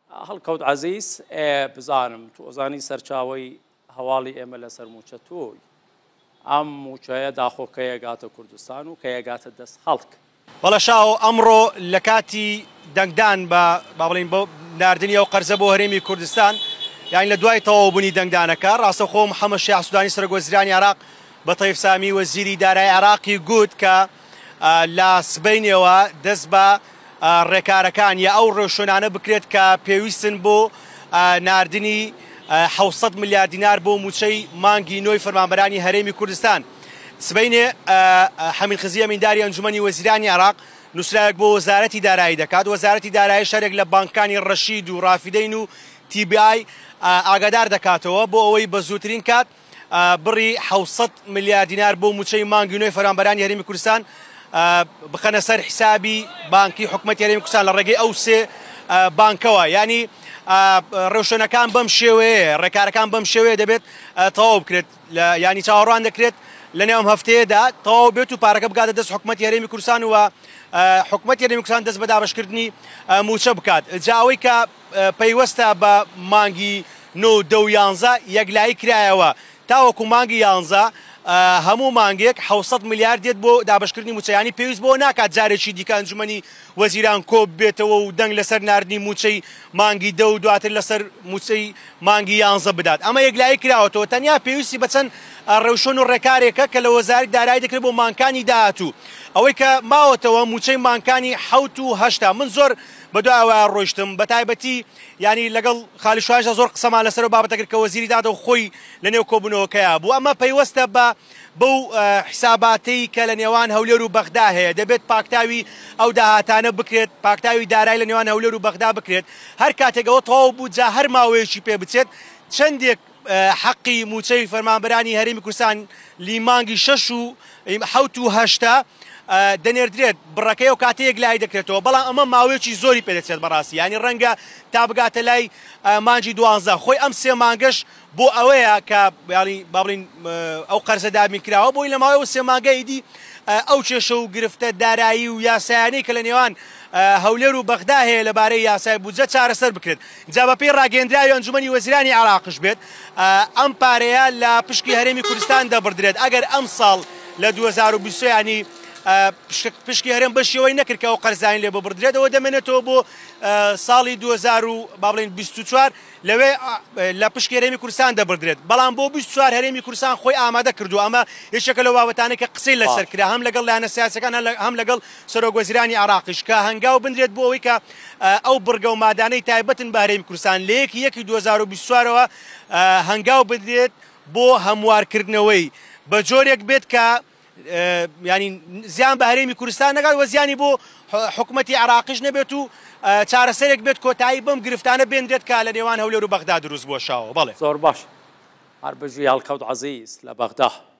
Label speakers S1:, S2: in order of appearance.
S1: هەڵکەوت عەزیز، ئێ بزانم تۆ ئەزانی سەرچاوەی هەواڵی ئێمە لەسەر مووچە تۆی. ئەم مووچەیە داخۆ کەی ئەگاتە کوردستان و کەی ئەگاتە دەست خەڵک؟
S2: بەڵێ شاهۆ، ئەمڕۆ لە کاتی دەنگدان بە با بڵێین بۆ ناردنی ئەو قەرزە بۆ هەرێمی کوردستان، یانی لە دوای تەواوبوونی دەنگدانەکە، ڕاستەوخۆ محەممەد شیاع سوودانی سەرۆکوەزیرانی عێراق بە تەیف سامی وەزیری دارایی عێراقی گوت کە لە سبەینێوە دەست بە ڕێکارەکان یا ئەو ڕێوشوێنانە بکرێت کە پێویستن بۆ ناردنی 700 ملیار دینار بۆ مووچەی مانگی نۆی فەرمانبەرانی هەرێمی کوردستان. سبەینێ حەمید خزی ئەمینداری ئەنجومەنی وەزیرانی عێراق نووسراوێک بۆ وەزارەتی دارایی دەکات، وەزارەتی داراییش هەرێک لە بانکەکانی ڕەشید و ڕافیدەین و تی بی ئای ئاگادار دەکاتەوە بۆ ئەوەی بە زووترین کات بڕی 700 ملیار دینار بۆ مووچەی مانگی نۆی فەرمانبەرانی هەرێمی کوردستان بخەنە سەر حیسابی بانکی حکومەتی هەرێمی کوردستان لە ڕێگەی ئەو سێ بانکەوە. یانی ڕێوشوێنەکان بەم شێوەیە، ڕێکارەکان بەم شێوەیە دەبێت تەواو بکرێت. یانی چاوەڕوان دەکرێت لە نێو ئەم هەفتەیەدا تەواو بێت و پارەکە بگاتە دەست حکومەتی هەرێمی کوردستان و حکومەتی هەرێمی کوردستان دەست بە دابەشکردنی مووچە بکات. جا ئەوەی کە پەیوەستە بە مانگی نۆ و دە و یانزە یەکلایی کرایەوە تاوەکو مانگی یانزە هەموو مانگێک 700 ملیار دێت بۆ دابەشکردنی مووچە، یانی پێویست بەوە ناکات جارێکی دیکە ئەنجومەنی وەزیران کۆببێتەوە و دەنگ لەسەر ناردنی مووچەی مانگی دە و دواتر لەسەر مووچەی مانگی یانزە بدات. ئەمە یەکلایی کراوەتەوە، تەنیا پێویستی بە چەند ڕێوشوێن و ڕێکارێکە کە لە وەزارەتی دارایی دەکرێت بۆ مانگکانی داهاتوو. ئەوەی کە ماوەتەوە مووچەی مانگکانی حەوت و هەشتە. من زۆر بەدوای ئەوەیا ڕۆیشتم، بەتایبەتی یانی لەگەڵ خالی شوانیشدا زۆر قسەمان لەسەر ئەو بابەتە کرد کە وەزیری داد و خۆی لەنێو کۆبوونەوەکەیا بوو. ئەمە پەیوەستە بە بەو حیساباتەی کە لە نێوان هەولێر و بەغدا هەیە، دەبێت پاکتاوی ئەو داهاتانە بکرێت، پاکتاوی دارایی لە نێوان هەولێر و بەغدا بکرێت، هەر کاتێک ئەوە تەواو بوو جا هەر ماوەیەکی پێ بچێت چەندێک حەقی مووچەی فەرمانبەرانی هەرێمی کوردستان لی مانگی شەش و حەوت و هەشتە دەنێردرێت، بڕەکەی ئەو کاتە یەکلایی دەکرێتەوە، بەڵام ئەمە ماوەیەکی زۆری پێدەچێت بەڕاستی، یانی ڕەنگە تا بگاتە لای مانگی دوانزە، خۆی ئەم سێ مانگەش بۆ ئەوەیە کە یاڵی با بڵین ئەو قەرزە دابین کراوە بۆی لە ماوەی ئەو سێ مانگە ئیدی ئەو کێشە و گرفتە دارایی و یاسایانەی کە لە نێوان هەولێر و بەغدا هەیە لەبارەی یاسای بودجە چارەسەر بکرێت. جا بەپێی ڕاگەیەندراوی ئەنجومەنی وەزیرانی عێراقش بێت ئەم پارەیە لە پشکی هەرێمی کوردستان دەبڕدرێت ئەگەر ئەمساڵ لە 2023 ینی پشکی هەرێم بەشیەوەی نەکرد کە ئەو قەرزانی لێ ببڕدرێت ئەوە دەمێنێتەوە بۆ ساڵی 2000 با بڵێین 24 لەوێ لە پشکی هەرێمی کوردستان دەبردرێت، بەڵام بۆ 24 هەرێمی کوردستان خۆی ئامادە کردووە، ئەمە یەکێکە لەو بابەتانەی کە قسەی لەسەر کرا هەم لەگەڵ لایەنە سیاسیەکان هەم لەگەڵ سەرۆک وەزیرانی عێراقیش کە هەنگاو بنرێت بۆ ئەوەی کە ئەو بڕگە و مادانەی تایبەتن بە هەرێمی کوردستان لە یەکی یەکی 2024 ەوە هەنگاو بنرێت بۆ هەموارکردنەوەی بە جۆرێک بێت کە ینی زیان بە هەرێمی کوردستان نەگات و زیانی بۆ حکومەتی عێراقیش نەبێت و چارەسەرێک بێت کۆتایی بەم گرفتانە بێنرێت کە لە نێوان هەولێر و بەغدا دروست بووە شاوە بەڵێ.
S1: زۆر باش هەر بژی هەڵکەوت عەزیز لە بەغدا.